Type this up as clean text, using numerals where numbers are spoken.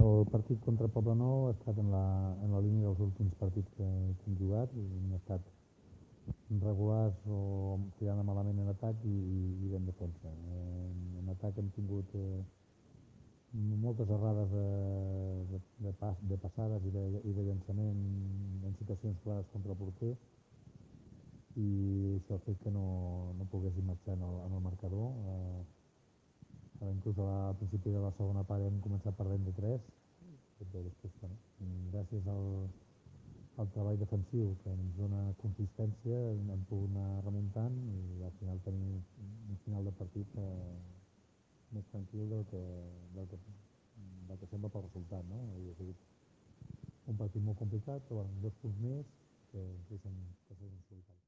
el partit contra Poblenou ha estat en la línia dels últims partits que hem jugat, i hem estat regulars o tirant malament en atac i ben defensa. En atac hem tingut moltes errades de passades i de llançament en situacions clares contra el porter, i això ha fet que no poguéssim marxar en el marcador. Inclús al principi de la segona part hem començat perdent de 3, però després, bueno, gràcies al treball defensiu que ens dona consistència hem pogut anar remuntant i al final tenir un final de partit més tranquil del que sembla pel resultat, no? Ha sigut un partit molt complicat, però bueno, 2 punts més que són solidaris.